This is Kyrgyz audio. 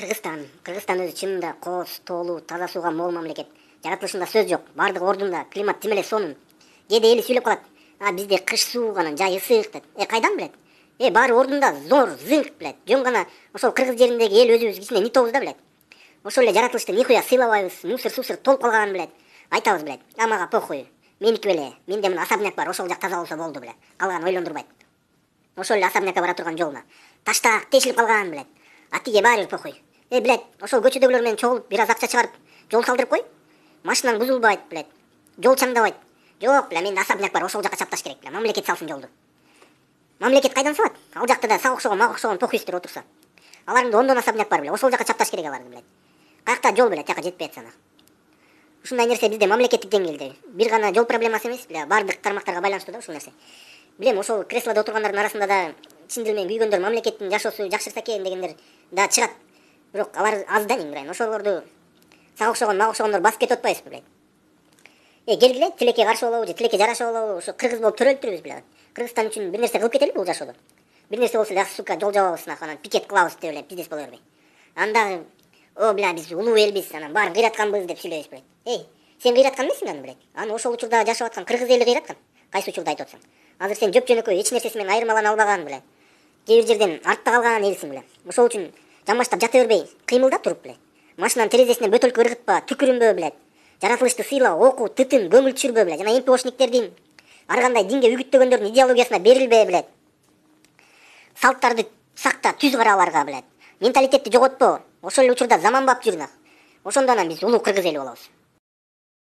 Кыргызстан өзү чынында кооз, тоолуу, таза сууга мол мамлекет. Жаратылышында сөз жок. Бардыгы ордунда, климат тим эле сонун. Кээде эли сүйлөп калат. Бизде кыш суук, анан жай ысык дейт. Кайдан билет? Баары ордунда, зор, зыңк билет. Жөн гана ошол кыргыз жериндеги эл өзүбүз кичине нитобуз да билет. Ошол эле жаратылышты нихуя сыйлабайбыз, мусор толуп калганын билет. Айтабыз билет. Мага похуй. Меники беле. Менде мына особняк бар, ошол жак таза болсо болду билет. Калганын ойлондурбайт. Ошол эле особнякка бара турган жолуна таштак тешилип калганын билет. Тиге баары бир похуй. Билет, ошол көчөдөгүлөр менен чогулуп бир аз акча чыгарып жол салдырып кой. Машинаң бузулбайт, билет. Жол чаңдабайт. Жок, биле, менде особняк бар, ошол жака чапташ керек, биле. Мамлекет салсын жолду. Мамлекет кайдан салат? Ал жакта да сага окшогон, мага окшогон похуйстер отурса. Алардын ондон особняк бар, биле. Ошол жака чапташ керек аларды, билет. Каякта жол, биле, тияка жетпей атсана. Ушундай нерсе бизде мамлекеттик деңгээлде. Бир гана жол проблемасы эмес, биле, бардык тармактарга байланыштуу да ушул нерсе. Билем, ошол креслодо отургандардын арасында да чын дил менен күйгөндөр, мамлекеттин жашоосу жакшырса экен дегендер да чыгат. Бирок алар аз да эң, ошолорду сага окшогон, мага окшогондор басып кетип атпайбызбы, билет. Келгиле, тилекке каршы болобу же тилекке жараша болобу, ошо кыргыз болуп төрөлүп турбуз, биле. Кыргызстан үчүн бир нерсе кылып кетели бул жашоодо. Бир нерсе болсо эле, сука, жол жабабыз, анан пикет кылабыз деп эле бизнес боло бербей. Анда биле, биз улуу элбиз, анан баарын кыйратканбыз деп сүйлөйбүз, билет. Сен кыйраткан эмессиң аны, билет. Аны ошол учурда жашап аткан кыргыз эли кыйраткан. Кайсы учурда айтып атсаң. Азыр сен жөп-жөнөкөй эч нерсеси менен айырмалана албаган, биле. Кээ бир жерден артта калган элсиң, биле. Ошол үчүн жамбаштап жата бербей, кыймылда туруп, биле. Машинанын терезесине бөтөлкө ыргытпа, түкүрүнбө, билет. Жаратылышты сыйла, окуу, тытын, көңүл түшүрбө, биле. Жана МПОшниктердин ар кандай динге үгүттөгөндөрдүн идеологиясына берилбе, билет. Салттарды сакта, түз кара аларга, билет. Менталитетти жоготпо. Ошол эле учурда заманбап жүрүнө. Ошондо анан биз улуу кыргыз эли болобуз.